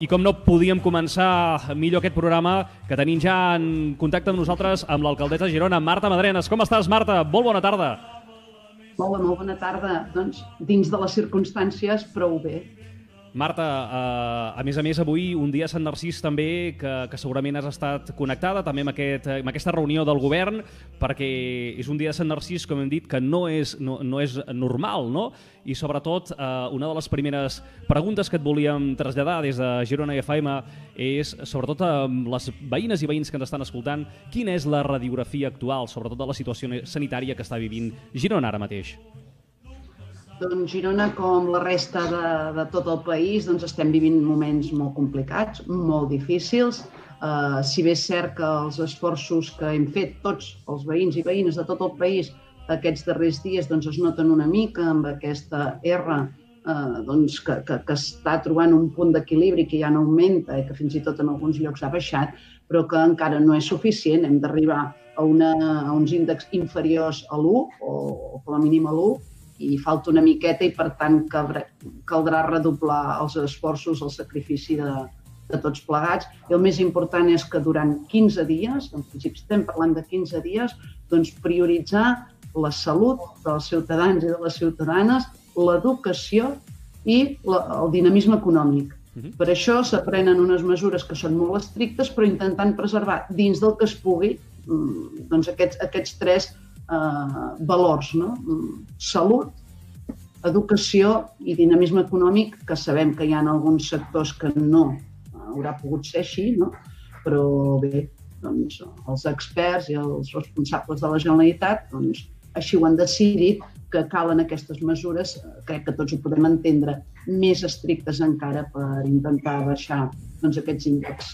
I com no podíem començar millor aquest programa, que tenim ja en contacte amb nosaltres amb l'alcaldessa de Girona, Marta Madrenas. Com estàs, Marta? Molt bona tarda. Molt bona tarda. Doncs, dins de les circumstàncies, prou bé. Marta, a més, avui un dia a Sant Narcís també, que segurament has estat connectada també amb aquesta reunió del govern, perquè és un dia de Sant Narcís, com hem dit, que no és normal, no? I sobretot, una de les primeres preguntes que et volíem traslladar des de Girona FM és, sobretot amb les veïnes i veïns que ens estan escoltant, quina és la radiografia actual, sobretot de la situació sanitària que està vivint Girona ara mateix? Doncs Girona, com la resta de tot el país, doncs estem vivint moments molt complicats, molt difícils. Si bé és cert que els esforços que hem fet tots els veïns i veïnes de tot el país aquests darrers dies doncs es noten una mica amb aquesta R doncs, que està trobant un punt d'equilibri que ja no augmenta i que fins i tot en alguns llocs ha baixat, però que encara no és suficient. Hem d'arribar a uns índexs inferiors a l'1 o com a mínim a l'1, i falta una miqueta i, per tant, caldrà redoblar els esforços, el sacrifici de tots plegats. I el més important és que durant 15 dies, en principi estem parlant de 15 dies, doncs prioritzar la salut dels ciutadans i de les ciutadanes, l'educació i el dinamisme econòmic. Per això s'aprenen unes mesures que són molt estrictes, però intentant preservar dins del que es pugui doncs aquests tres valors, no? Salut, educació i dinamisme econòmic, que sabem que hi ha alguns sectors que no haurà pogut ser així, no? Però bé, doncs, els experts i els responsables de la Generalitat doncs, així ho han decidit, que calen aquestes mesures, crec que tots ho podem entendre, més estrictes encara per intentar baixar doncs, aquests índexs.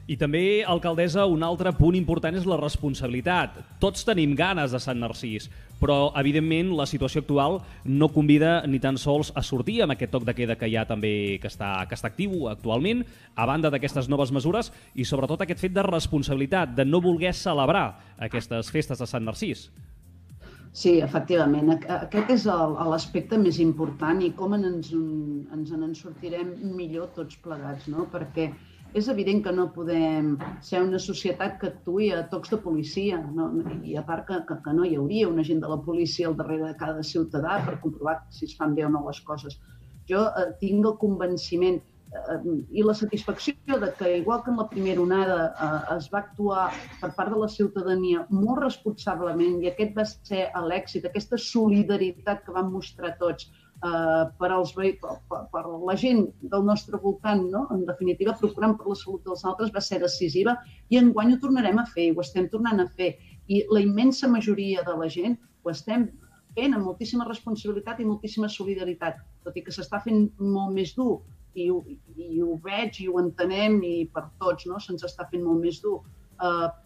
I també, alcaldessa, un altre punt important és la responsabilitat. Tots tenim ganes de Sant Narcís, però, evidentment, la situació actual no convida ni tan sols a sortir amb aquest toc de queda que hi ha també, que està actiu actualment, a banda d'aquestes noves mesures, i sobretot aquest fet de responsabilitat, de no voler celebrar aquestes festes de Sant Narcís. Sí, efectivament. Aquest és l'aspecte més important i com ens en sortirem millor tots plegats, no? Perquè és evident que no podem ser una societat que actuï a tocs de policia, no? I a part que no hi hauria un agent de la policia al darrere de cada ciutadà per comprovar si es fan bé o no les coses. Jo tinc el convenciment i la satisfacció de que, igual que en la primera onada es va actuar per part de la ciutadania molt responsablement i aquest va ser l'èxit, aquesta solidaritat que vam mostrar tots per la gent del nostre voltant, no? En definitiva, procurant per la salut dels altres, va ser decisiva i enguany ho tornarem a fer, ho estem tornant a fer. I la immensa majoria de la gent ho estem fent amb moltíssima responsabilitat i moltíssima solidaritat, tot i que s'està fent molt més dur i ho veig i ho entenem i per tots, no? Se'ns està fent molt més dur.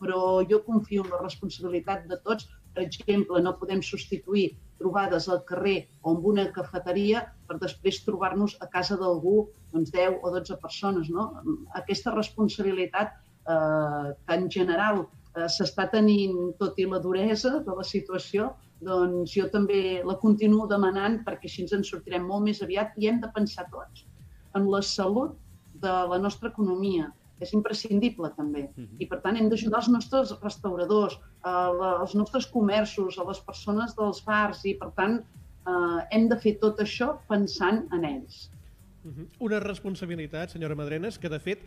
Però jo confio en la responsabilitat de tots. Per exemple, no podem substituir trobades al carrer o en una cafeteria per després trobar-nos a casa d'algú 10 o 12 persones, no? Aquesta responsabilitat que en general s'està tenint, tot i la duresa de la situació, doncs jo també la continuo demanant perquè així ens en sortirem molt més aviat i hem de pensar tots en la salut de la nostra economia. És imprescindible també. I per tant hem d'ajudar els nostres restauradors, els nostres comerços, a les persones dels bars i per tant hem de fer tot això pensant en ells. Una responsabilitat, senyora Madrenas, que de fet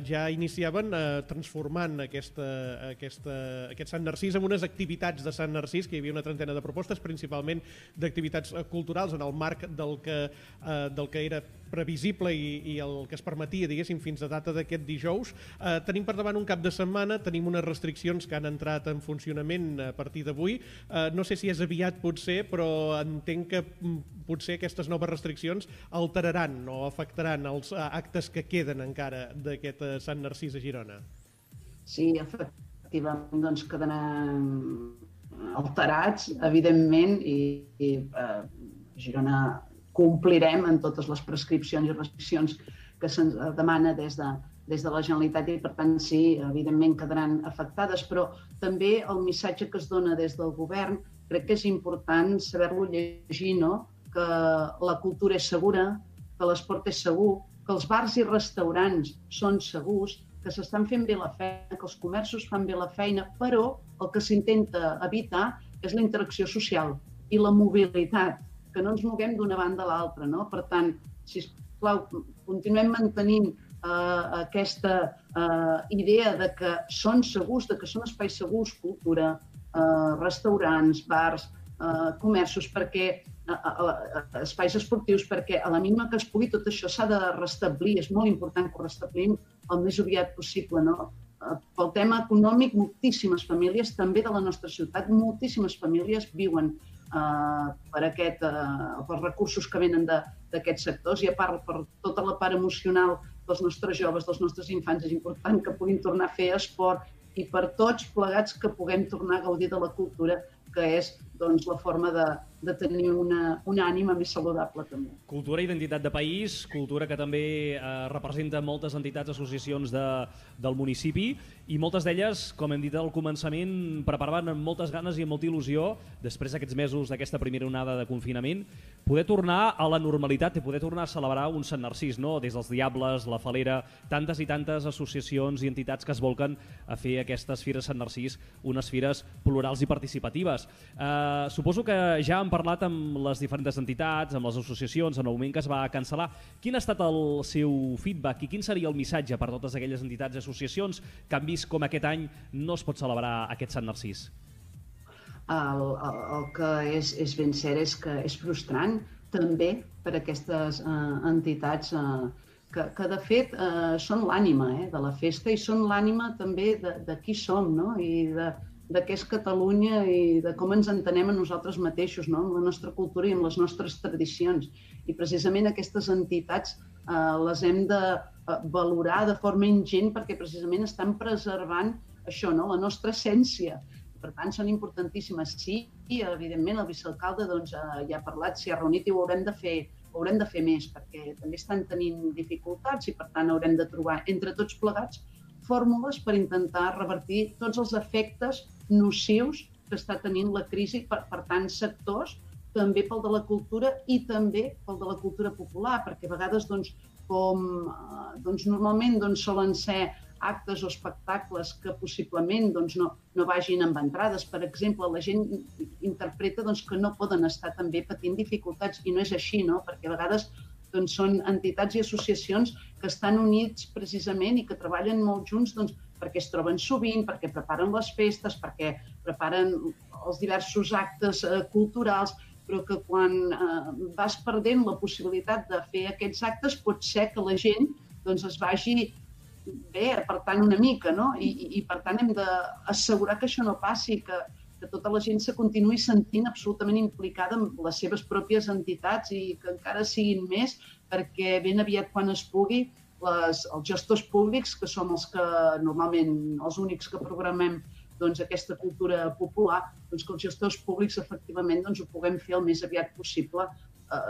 ja iniciaven transformant aquest Sant Narcís en unes activitats de Sant Narcís, que hi havia una trentena de propostes, principalment d'activitats culturals en el marc del que era previsible i el que es permetia, diguéssim, fins a data d'aquest dijous. Tenim per davant un cap de setmana, tenim unes restriccions que han entrat en funcionament a partir d'avui. No sé si és aviat, potser, però entenc que potser aquestes noves restriccions alteraran o afectaran els actes que queden encara d'aquest Sant Narcís a Girona. Sí, efectivament, doncs quedaran alterats, evidentment, i Girona complirem en totes les prescripcions i restriccions que se'ns demana des de la Generalitat i, per tant, sí, evidentment quedaran afectades, però també el missatge que es dona des del govern crec que és important saber-lo llegir, no? Que la cultura és segura, que l'esport és segur, que els bars i restaurants són segurs, que s'estan fent bé la feina, que els comerços fan bé la feina, però el que s'intenta evitar és la interacció social i la mobilitat, que no ens moguem d'una banda a l'altra, no? Per tant, sisplau, continuem mantenint aquesta idea de que són segurs, de que són espais segurs, cultura, restaurants, bars, comerços, perquè espais esportius, perquè a la mínima que es pugui tot això s'ha de restablir, és molt important que ho restablim el més aviat possible, no? Pel tema econòmic, moltíssimes famílies, també de la nostra ciutat, moltíssimes famílies viuen pels recursos que venen d'aquests sectors, i a part, per tota la part emocional dels nostres joves, dels nostres infants, és important que puguin tornar a fer esport i per tots plegats que puguem tornar a gaudir de la cultura, que és la forma de tenir una ànima més saludable també. Cultura i identitat de país, cultura que també representa moltes entitats, associacions del municipi, i moltes d'elles, com hem dit al començament, preparaven amb moltes ganes i amb molta il·lusió, després d'aquests mesos d'aquesta primera onada de confinament, poder tornar a la normalitat i poder tornar a celebrar un Sant Narcís, no? Des dels Diables, la Falera, tantes i tantes associacions i entitats que es volquen a fer aquestes fires Sant Narcís, unes fires plurals i participatives. Suposo que ja han parlat amb les diferents entitats, amb les associacions, en el moment que es va cancel·lar. Quin ha estat el seu feedback i quin seria el missatge per totes aquelles entitats i associacions que han vist com aquest any no es pot celebrar aquest Sant Narcís? El que és ben cert és que és frustrant també per a aquestes entitats que de fet són l'ànima de la festa i són l'ànima també de qui som, no? I de què és Catalunya i de com ens entenem a nosaltres mateixos, no? Amb la nostra cultura i amb les nostres tradicions. I precisament aquestes entitats les hem de valorar de forma ingent perquè precisament estan preservant això, no? La nostra essència. Per tant, són importantíssimes. Sí, i evidentment el vicealcalde ja ha parlat, s'hi ha reunit i ho haurem de fer més, perquè també estan tenint dificultats i per tant haurem de trobar entre tots plegats fórmules per intentar revertir tots els efectes nocius que està tenint la crisi per tants sectors, també pel de la cultura i també pel de la cultura popular, perquè a vegades, normalment solen ser actes o espectacles que possiblement no vagin amb entrades. Per exemple, la gent interpreta que no poden estar també patint dificultats i no és així, no? Perquè a vegades són entitats i associacions que estan units precisament i que treballen molt junts perquè es troben sovint, perquè preparen les festes, perquè preparen els diversos actes culturals, però que quan vas perdent la possibilitat de fer aquests actes pot ser que la gent es vagi apartant una mica, no? I per tant hem d'assegurar que això no passi, que tota la gent se continuï sentint absolutament implicada en les seves pròpies entitats i que encara siguin més, perquè ben aviat quan es pugui els gestors públics, que som normalment els únics que programem aquesta cultura popular, que els gestors públics efectivament ho puguem fer el més aviat possible,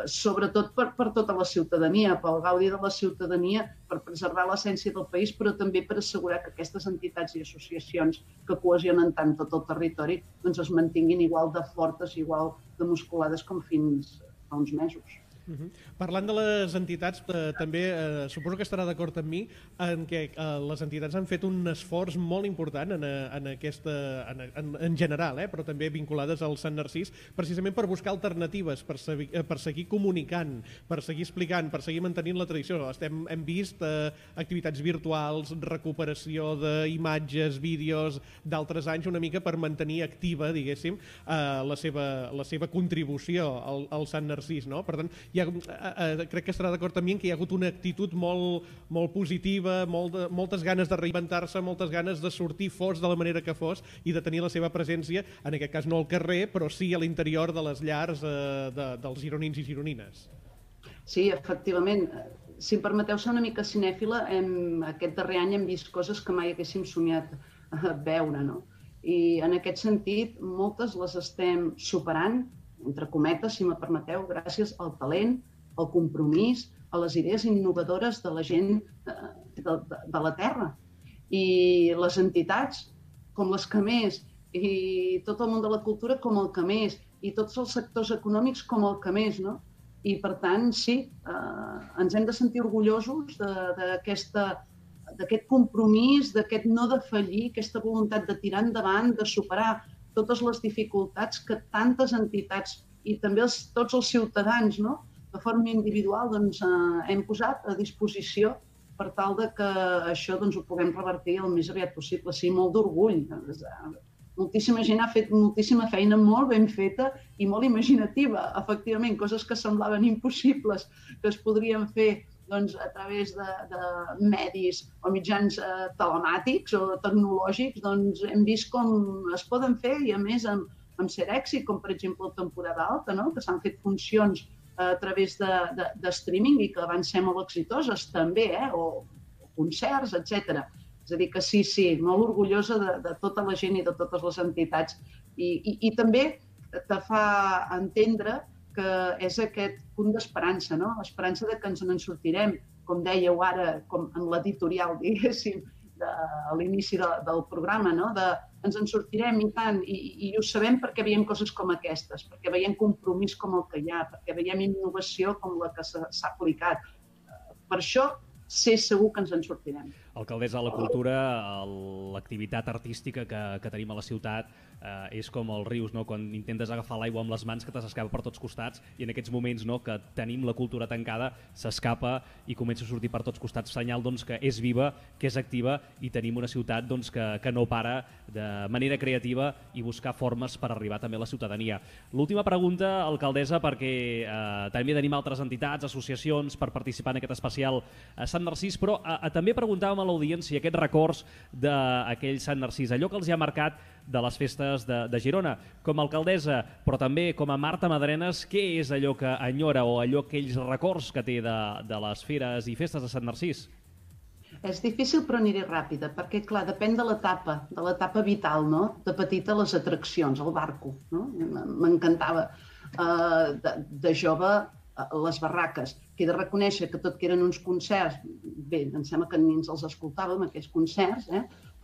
sobretot per tota la ciutadania, pel gaudi de la ciutadania, per preservar l'essència del país, però també per assegurar que aquestes entitats i associacions que cohesionen tant tot el territori es mantinguin igual de fortes, igual de musculades com fins fa uns mesos. Parlant de les entitats, també suposo que estarà d'acord amb mi en què les entitats han fet un esforç molt important en general, però també vinculades al Sant Narcís, precisament per buscar alternatives, per seguir comunicant, per seguir explicant, per seguir mantenint la tradició. Hem vist activitats virtuals, recuperació d'imatges, vídeos d'altres anys, una mica per mantenir activa, diguéssim, la seva contribució al Sant Narcís, no? Per tant, crec que estarà d'acord amb mi que hi ha hagut una actitud molt positiva, moltes ganes de reinventar-se, moltes ganes de sortir fos de la manera que fos i de tenir la seva presència, en aquest cas no al carrer, però sí a l'interior de les llars dels gironins i gironines. Sí, efectivament. Si em permeteu ser una mica cinèfila, aquest darrer any hem vist coses que mai haguéssim somiat veure, no? I en aquest sentit, moltes les estem superant, entre cometes, si me permeteu, gràcies al talent, al compromís, a les idees innovadores de la gent de la terra. I les entitats, com les que més, i tot el món de la cultura com el que més, i tots els sectors econòmics com el que més, no? I, per tant, sí, ens hem de sentir orgullosos d'aquest compromís, d'aquest no defallir, aquesta voluntat de tirar endavant, de superar totes les dificultats que tantes entitats i també tots els ciutadans, no?, de forma individual, doncs, hem posat a disposició per tal de que això doncs, ho puguem revertir el més aviat possible. Sí, molt d'orgull. Moltíssima gent ha fet moltíssima feina molt ben feta i molt imaginativa. Efectivament, coses que semblaven impossibles, que es podrien fer doncs, a través de medis o mitjans telemàtics o tecnològics, doncs hem vist com es poden fer i, a més, amb cert èxit, com per exemple la temporada alta, no?, que s'han fet funcions a través de streaming i que van ser molt exitoses també, o concerts, etc. És a dir, que sí, molt orgullosa de tota la gent i de totes les entitats. I també te fa entendre que és aquest punt d'esperança, no? L'esperança de que ens en sortirem, com dèieu ara, com en l'editorial, diguéssim, a l'inici del programa, no? Ens en sortirem i tant, i ho sabem perquè veiem coses com aquestes, perquè veiem compromís com el que hi ha, perquè veiem innovació com la que s'ha aplicat. Per això, sé segur que ens en sortirem. Alcaldessa de la Cultura, l'activitat artística que tenim a la ciutat és com els rius, no? Quan intentes agafar l'aigua amb les mans que te s'escapa per tots costats, i en aquests moments, no, que tenim la cultura tancada, s'escapa i comença a sortir per tots costats, senyal doncs, que és viva, que és activa, i tenim una ciutat doncs, que no para de manera creativa i buscar formes per arribar també a la ciutadania. L'última pregunta, alcaldessa, perquè també tenim altres entitats, associacions per participar en aquest especial a Sant Narcís, però també preguntàvem a l'audiència aquests records d'aquell Sant Narcís, allò que els ha marcat de les festes de Girona. Com a alcaldessa, però també com a Marta Madrenes, què és allò que enyora o aquells records que té de les fires i festes de Sant Narcís? És difícil, però aniré ràpida, perquè, clar, depèn de l'etapa vital, no? De petita, les atraccions, el barco, no? M'encantava. De jove, les barraques, que he de reconèixer que tot que eren uns concerts, bé, em sembla que ni ens els escoltàvem, aquests concerts,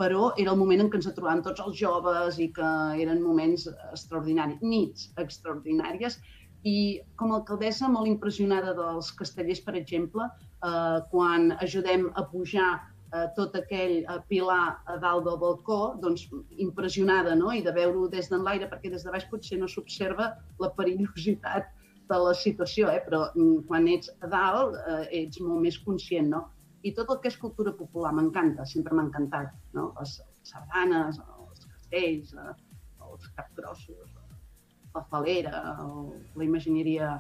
però era el moment en què ens trobàvem tots els joves i que eren moments extraordinaris, nits extraordinàries, i com a alcaldessa molt impressionada dels castellers, per exemple, quan ajudem a pujar tot aquell pilar a dalt del balcó, doncs impressionada, no?, i de veure-ho des d'enlaire, perquè des de baix potser no s'observa la perillositat de la situació, però quan ets a dalt ets molt més conscient, no? I tot el que és cultura popular m'encanta, sempre m'ha encantat, no? Les sardanes, els castells, els capgrossos, la falera, la imagineria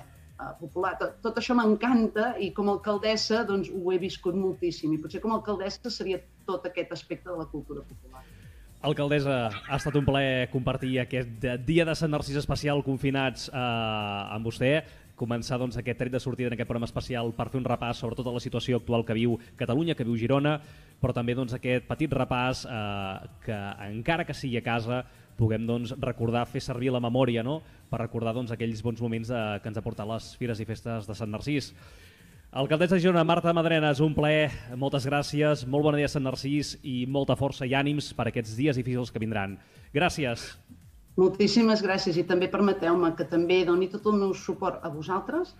popular, tot això m'encanta i com a alcaldessa doncs, ho he viscut moltíssim i potser com a alcaldessa seria tot aquest aspecte de la cultura popular. Alcaldessa, ha estat un plaer compartir aquest dia de Sant Narcís especial confinats amb vostè, començar doncs, aquest tret de sortida en aquest programa especial per fer un repàs sobre tota la situació actual que viu Catalunya, que viu Girona, però també doncs, aquest petit repàs que encara que sigui a casa puguem doncs, recordar, fer servir la memòria, no?, per recordar doncs, aquells bons moments que ens ha portat les fires i festes de Sant Narcís. Alcaldessa de Girona, Marta Madrenes, un plaer, moltes gràcies, molt bon dia a Sant Narcís i molta força i ànims per aquests dies difícils que vindran. Gràcies. Moltíssimes gràcies i també permeteu-me que també doni tot el meu suport a vosaltres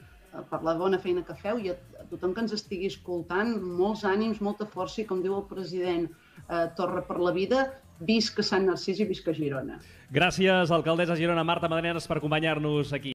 per la bona feina que feu i a tothom que ens estigui escoltant, molts ànims, molta força i, com diu el president Torra per la vida, visca Sant Narcís i visca Girona. Gràcies, alcaldessa de Girona, Marta Madrenes, per acompanyar-nos aquí.